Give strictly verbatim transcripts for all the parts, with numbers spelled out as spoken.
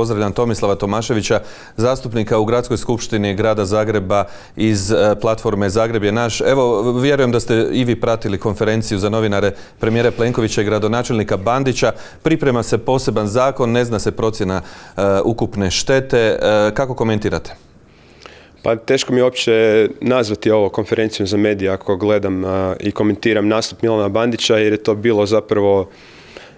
Pozdravljam Tomislava Tomaševića, zastupnika u Gradskoj skupštini Grada Zagreba iz platforme Zagreb je naš. Evo, vjerujem da ste i vi pratili konferenciju za novinare premijera Plenkovića i gradonačelnika Bandića. Priprema se poseban zakon, ne zna se procjena uh, ukupne štete. Uh, kako komentirate? Pa teško mi je uopće nazvati ovo konferencijom za medije ako gledam uh, i komentiram nastup Milana Bandića, jer je to bilo zapravo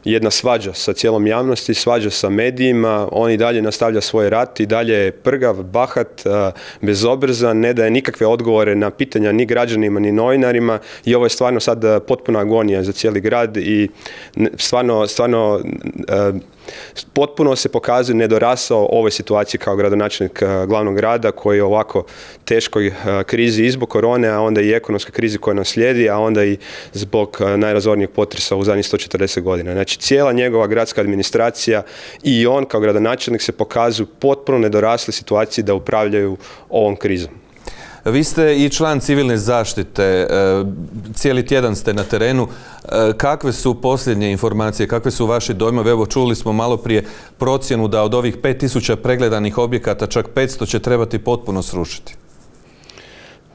jedna svađa sa cijelom javnosti, svađa sa medijima. On i dalje nastavlja svoj rat, i dalje je prgav, bahat, bezobrazan, ne daje nikakve odgovore na pitanja ni građanima ni novinarima, i ovo je stvarno sad potpuna agonija za cijeli grad i stvarno, stvarno potpuno se pokazuje nedorasao ovoj situaciji kao gradonačelnik glavnog grada, koji je u ovako teškoj krizi i zbog korone, a onda i ekonomskoj krizi koja nam slijedi, a onda i zbog najrazornijeg potresa u zadnjih sto četrdeset godina. Znači, cijela njegova gradska administracija i on kao gradonačelnik se pokazuju potpuno nedorasli situaciji da upravljaju ovom krizom. Vi ste i član civilne zaštite, cijeli tjedan ste na terenu. Kakve su posljednje informacije, kakve su vaši dojmovi? Evo, čuli smo malo prije procjenu da od ovih pet tisuća pregledanih objekata čak petsto će trebati potpuno srušiti.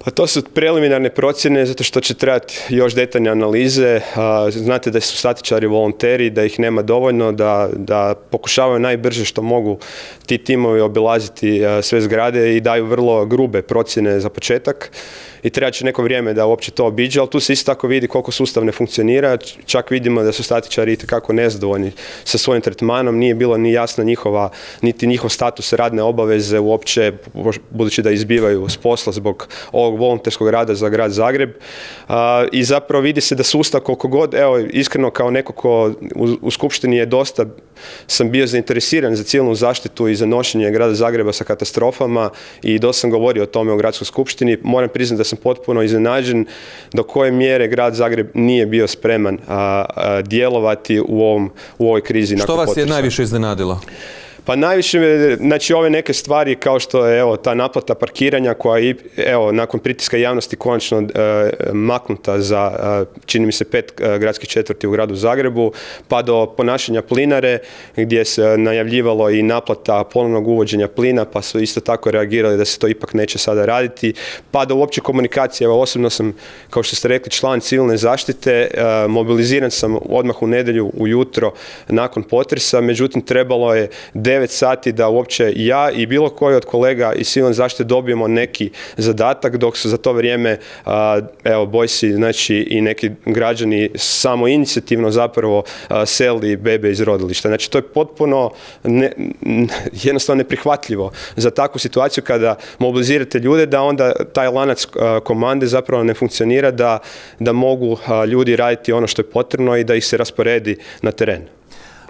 Pa to su preliminarne procjene, zato što će trebati još detaljne analize. Znate da su statičari volonteri, da ih nema dovoljno, da, da pokušavaju najbrže što mogu ti timovi obilaziti sve zgrade i daju vrlo grube procjene za početak. I treba će neko vrijeme da uopće to obiđe, ali tu se isto tako vidi koliko sustav ne funkcionira. Čak vidimo da su statičari itekako nezadovoljni sa svojim tretmanom, nije bilo ni jasna njihova, niti njihov status radne obaveze uopće, budući da izbivaju s posla zbog ovog volonterskog rada za grad Zagreb. A, i zapravo vidi se da sustav koliko god, evo, iskreno kao neko ko u, u skupštini je dosta, sam bio zainteresiran za civilnu zaštitu i za nošenje grada Zagreba sa katastrofama i dosta sam govorio o tome u gradskoj skupštini. Moram priznati da sam potpuno iznenađen do koje mjere grad Zagreb nije bio spreman a, a, djelovati u, ovom, u ovoj krizi. Što vas je najviše iznenadilo? Pa najviše, znači ove neke stvari kao što je evo, ta naplata parkiranja koja je evo, nakon pritiska javnosti konačno e, maknuta za e, čini mi se pet e, gradskih četvrti u gradu Zagrebu, pa do ponašanja plinare gdje se najavljivalo i naplata ponovnog uvođenja plina, pa su isto tako reagirali da se to ipak neće sada raditi, pa do uopće komunikacije. Evo, osobno sam, kao što ste rekli, član civilne zaštite, e, mobiliziran sam odmah u nedjelju ujutro nakon potresa, međutim trebalo je devet sati da uopće ja i bilo koji od kolega iz civilne zaštite dobijemo neki zadatak, dok su za to vrijeme a, evo Bojsi, znači i neki građani samo inicijativno zapravo a, selili bebe iz rodilišta. Znači to je potpuno ne, jednostavno neprihvatljivo za takvu situaciju kada mobilizirate ljude, da onda taj lanac a, komande zapravo ne funkcionira, da, da mogu a, ljudi raditi ono što je potrebno i da ih se rasporedi na teren.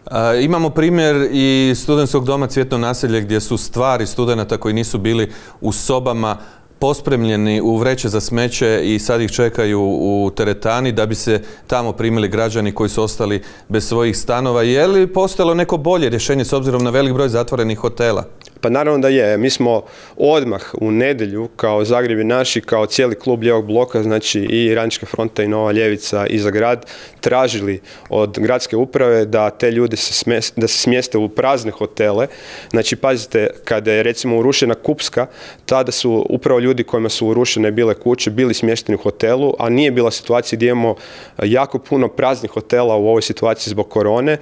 Uh, imamo primjer i studentskog doma Cvjetno naselje gdje su stvari studenata koji nisu bili u sobama pospremljeni u vreće za smeće i sad ih čekaju u teretani da bi se tamo primili građani koji su ostali bez svojih stanova. Je li postojalo neko bolje rješenje s obzirom na velik broj zatvorenih hotela? Pa naravno da je. Mi smo odmah u nedjelju kao Zagreb je naš i kao cijeli klub Lijevog bloka, znači i Radnička fronta i Nova ljevica i za grad, tražili od gradske uprave da te ljude se smjeste, da se smjeste u prazne hotele. Znači pazite, kada je recimo urušena Kupska, tada su upravo ljudi kojima su urušene bile kuće bili smješteni u hotelu, a nije bila situacija gdje imamo jako puno praznih hotela u ovoj situaciji zbog korone.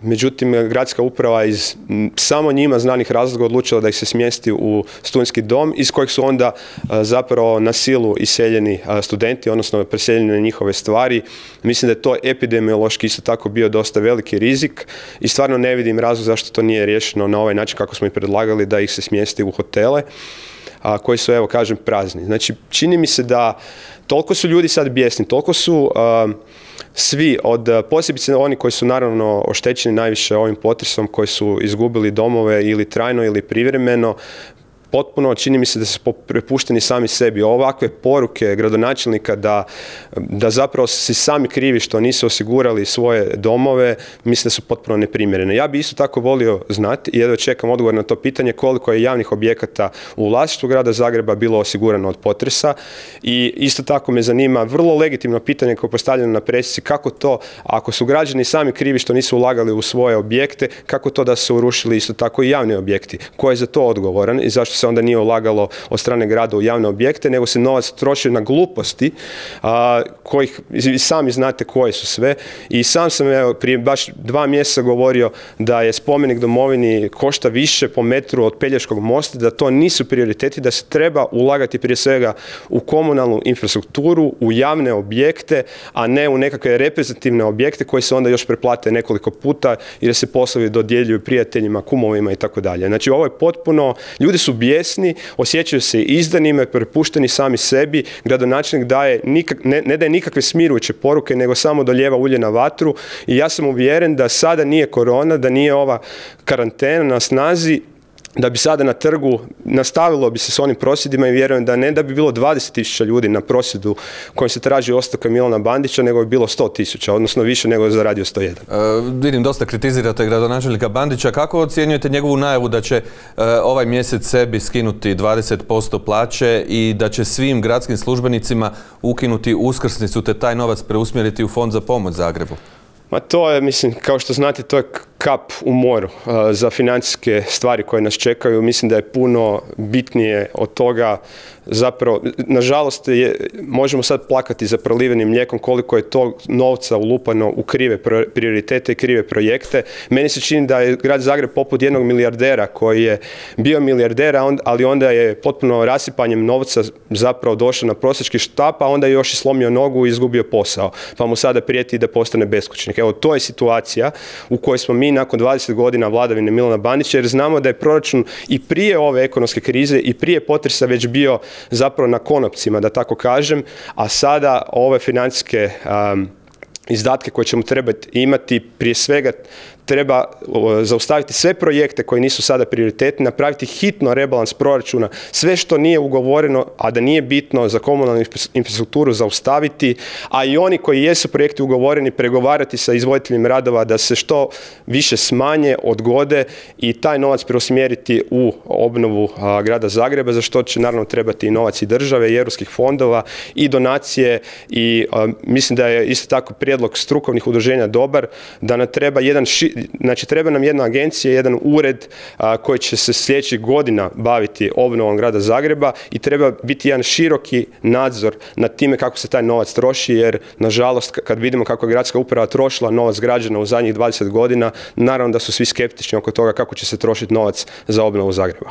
Međutim, gradska uprava iz samo njima znanih razloga odlučila da ih se smjesti u studentski dom, iz kojeg su onda a, zapravo na silu iseljeni a, studenti, odnosno preseljeni na njihove stvari. Mislim da je to epidemiološki isto tako bio dosta veliki rizik i stvarno ne vidim razlog zašto to nije riješeno na ovaj način kako smo i predlagali, da ih se smjesti u hotele, a, koji su, evo kažem, prazni. Znači, čini mi se da toliko su ljudi sad bijesni, toliko su a, svi, od posebice oni koji su naravno oštećeni najviše ovim potresom, koji su izgubili domove ili trajno ili privremeno, potpuno, čini mi se da su prepušteni sami sebi. Ovakve poruke gradonačelnika da, da zapravo si sami krivi što nisu osigurali svoje domove, mislim da su potpuno neprimjerene. Ja bi isto tako volio znati, i jedva čekam odgovor na to pitanje, koliko je javnih objekata u vlasništvu grada Zagreba bilo osigurano od potresa, i isto tako me zanima vrlo legitimno pitanje koje je postavljeno na presici, kako to, ako su građani sami krivi što nisu ulagali u svoje objekte, kako to da su urušili isto tako i javni objekti? Ko je za to odgovoran i zašto se onda nije ulagalo od strane grada u javne objekte, nego se novac troši na gluposti, a, kojih i sami znate koje su sve. I sam sam evo, prije baš dva mjeseca govorio da je spomenik domovini košta više po metru od Pelješkog mosta, da to nisu prioriteti, da se treba ulagati prije svega u komunalnu infrastrukturu, u javne objekte, a ne u nekakve reprezentativne objekte koji se onda još preplate nekoliko puta i da se poslovi dodjeljuju prijateljima, kumovima i tako dalje. Znači ovo je potpuno, ljudi su bijesni, osjećaju se izdanima, prepušteni sami sebi, gradonačelnik daje nikak, ne, ne daje nikakve smirujuće poruke, nego samo doljeva ulje na vatru, i ja sam uvjeren da sada nije korona, da nije ova karantena na snazi, da bi sada na trgu nastavilo bi se s onim prosvjedima, i vjerujem da ne da bi bilo dvadeset tisuća ljudi na prosvjedu kojim se traži ostavka Milana Bandića, nego bi bilo sto tisuća, odnosno više nego za Radio sto jedan. E, vidim, dosta kritizirate gradonačelnika Bandića. Kako ocjenjujete njegovu najavu da će e, ovaj mjesec sebi skinuti dvadeset posto plaće i da će svim gradskim službenicima ukinuti uskrsnicu te taj novac preusmjeriti u Fond za pomoć Zagrebu? Ma to je, mislim, kao što znate, to je kap u moru uh, za financijske stvari koje nas čekaju. Mislim da je puno bitnije od toga. Zapravo, nažalost, je, možemo sad plakati za prolivenim mlijekom koliko je to novca ulupano u krive prioritete i krive projekte. Meni se čini da je grad Zagreb poput jednog milijardera koji je bio milijarder, ali onda je potpuno rasipanjem novca zapravo došao na prosjački štap, a onda je još i slomio nogu i izgubio posao. Pa mu sada prijeti da postane beskućnik. Evo, to je situacija u kojoj smo mi nakon dvadeset godina vladavine Milana Bandića, jer znamo da je proračun i prije ove ekonomske krize i prije potresa već bio zapravo na konopcima, da tako kažem, a sada ove financijske um, izdatke koje ćemo trebati imati, prije svega treba zaustaviti sve projekte koji nisu sada prioritetni, napraviti hitno rebalans proračuna, sve što nije ugovoreno, a da nije bitno za komunalnu infrastrukturu zaustaviti, a i oni koji jesu projekti ugovoreni pregovarati sa izvoditeljima radova da se što više smanje, odgode i taj novac preusmjeriti u obnovu a, grada Zagreba, za što će naravno trebati i novac i države i europskih fondova i donacije, i a, mislim da je isto tako prijedlog strukovnih udruženja dobar, da nam treba jedan ši, znači treba nam jedna agencija, jedan ured a, koji će se sljedećih godina baviti obnovom grada Zagreba, i treba biti jedan široki nadzor nad time kako se taj novac troši, jer nažalost kad vidimo kako je gradska uprava trošila novac građana u zadnjih dvadeset godina, naravno da su svi skeptični oko toga kako će se trošiti novac za obnovu Zagreba.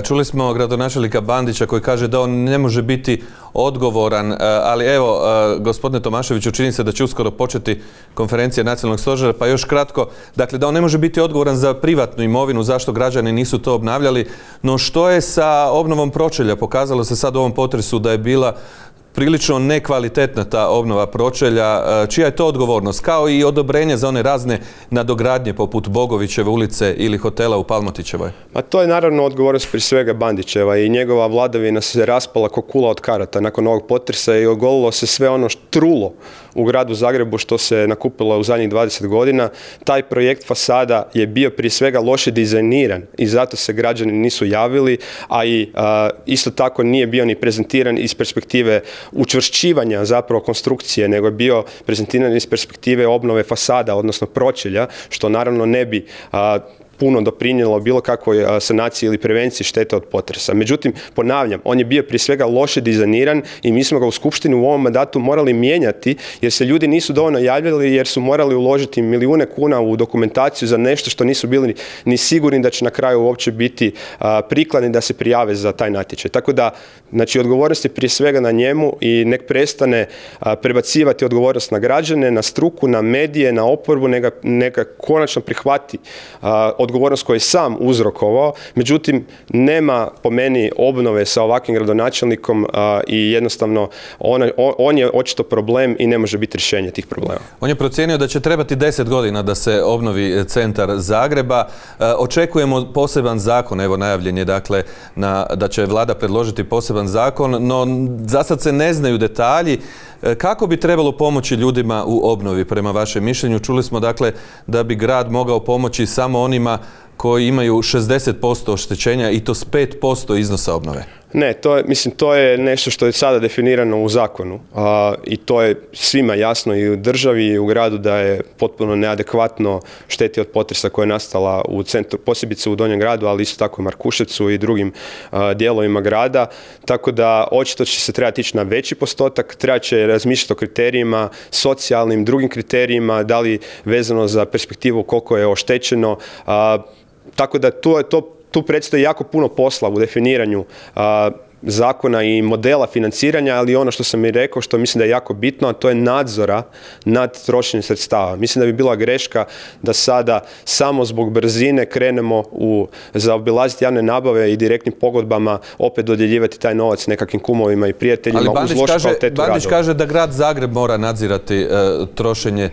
Čuli smo gradonačelnika Bandića koji kaže da on ne može biti odgovoran, ali evo, gospodine Tomaševiću, čini se da će uskoro početi konferencija nacionalnog stožera, pa još kratko, dakle da on ne može biti odgovoran za privatnu imovinu, zašto građani nisu to obnavljali, no što je sa obnovom pročelja? Pokazalo se sad u ovom potresu da je bila prilično nekvalitetna ta obnova pročelja. Čija je to odgovornost? Kao i odobrenje za one razne nadogradnje poput Bogovićeve ulice ili hotela u Palmotićevoj? Ma to je naravno odgovornost prije svega Bandićeva, i njegova vladavina se raspala ko kula od karata nakon ovog potresa i ogolilo se sve ono trulo u gradu Zagrebu što se nakupilo u zadnjih dvadeset godina. Taj projekt fasada je bio prije svega loše dizajniran i zato se građani nisu javili, a i a, isto tako nije bio ni prezentiran iz perspektive učvršćivanja zapravo konstrukcije, nego je bio prezentiran iz perspektive obnove fasada, odnosno pročelja, što naravno ne bi a, puno doprinijelo bilo kakvoj sanaciji ili prevenciji štete od potresa. Međutim, ponavljam, on je bio prije svega loše dizajniran i mi smo ga u skupštini u ovom mandatu morali mijenjati, jer se ljudi nisu dovoljno javljali, jer su morali uložiti milijune kuna u dokumentaciju za nešto što nisu bili ni sigurni da će na kraju uopće biti a, prikladni da se prijave za taj natječaj. Tako da, znači, odgovornost je prije svega na njemu i nek prestane a, prebacivati odgovornost na građane, na struku, na medije, na oporbu, neka, neka konačno prihvati a, odgovornost koju je sam uzrokovao, međutim nema po meni obnove sa ovakvim gradonačelnikom a, i jednostavno on, on je očito problem i ne može biti rješenje tih problema. On je procijenio da će trebati deset godina da se obnovi centar Zagreba. E, očekujemo poseban zakon, evo najavljen je dakle na, da će vlada predložiti poseban zakon, no za sad se ne znaju detalji. E, kako bi trebalo pomoći ljudima u obnovi prema vašem mišljenju? Čuli smo dakle da bi grad mogao pomoći samo onima koji imaju šezdeset posto oštećenja i to s pet posto iznosa obnove. Ne, to je, mislim, to je nešto što je sada definirano u zakonu a, i to je svima jasno i u državi i u gradu da je potpuno neadekvatno šteti od potresa koja je nastala u centru, posebice u Donjem gradu, ali isto tako i Markuševcu i drugim a, dijelovima grada, tako da očito će se trebati ići na veći postotak, treba će razmišljati o kriterijima, socijalnim, drugim kriterijima, da li vezano za perspektivu koliko je oštećeno, a, tako da to je to Tu predstoji jako puno posla u definiranju a, zakona i modela financiranja, ali ono što sam i rekao, što mislim da je jako bitno, a to je nadzora nad trošenjem sredstava. Mislim da bi bila greška da sada samo zbog brzine krenemo u zaobilaziti javne nabave i direktnim pogodbama opet dodjeljivati taj novac nekakvim kumovima i prijateljima uz lošu kvalitetu radova. Bandić kaže da grad Zagreb mora nadzirati e, trošenje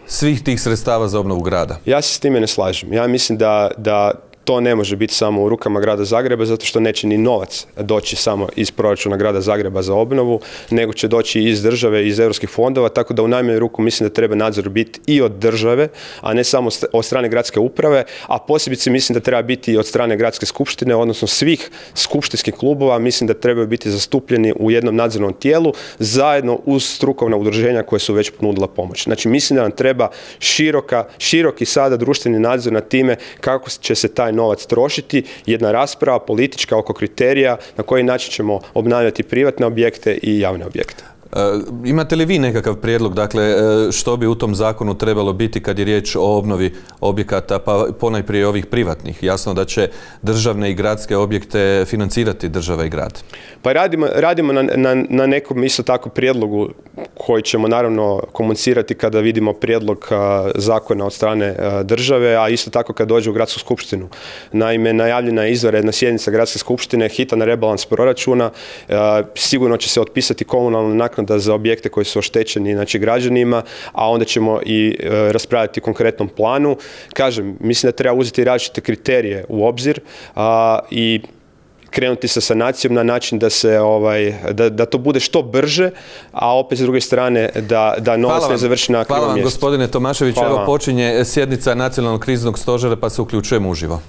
svih tih sredstava za obnovu grada. Ja se s time ne slažem. Ja mislim da, da to ne može biti samo u rukama grada Zagreba, zato što neće ni novac doći samo iz proračuna grada Zagreba za obnovu, nego će doći iz države, iz europskih fondova, tako da u najmanju ruku mislim da treba nadzor biti i od države, a ne samo od strane gradske uprave, a posebice mislim da treba biti i od strane gradske skupštine, odnosno svih skupštinskih klubova, mislim da trebaju biti zastupljeni u jednom nadzornom tijelu, zajedno uz strukovna udruženja koje su već ponudila pomoć. Znači mislim da nam treba široka, široki sada društveni nadzor nad time kako će se taj novac trošiti, jedna rasprava politička oko kriterija na koji način ćemo obnavljati privatne objekte i javne objekte. E, imate li vi nekakav prijedlog, dakle, što bi u tom zakonu trebalo biti kad je riječ o obnovi objekata, pa ponajprije ovih privatnih? Jasno da će državne i gradske objekte financirati država i grad. Pa radimo, radimo na, na, na nekom isto tako prijedlogu koji ćemo naravno komunicirati kada vidimo prijedlog a, zakona od strane a, države, a isto tako kad dođe u gradsku skupštinu. Naime, najavljena je izvanredna sjednica gradske skupštine, hitan rebalans proračuna, a, sigurno će se otpisati komunalna naknada za objekte koji su oštećeni, znači građanima, a onda ćemo i e, raspravljati o konkretnom planu. Kažem, mislim da treba uzeti različite kriterije u obzir a, i krenuti sa sanacijom na način da se ovaj da, da to bude što brže, a opet s druge strane da, da novac ne završi na krivom mjestu. Hvala vam, gospodine Tomašević. Evo počinje sjednica Nacionalnog kriznog stožera, pa se uključujemo uživo.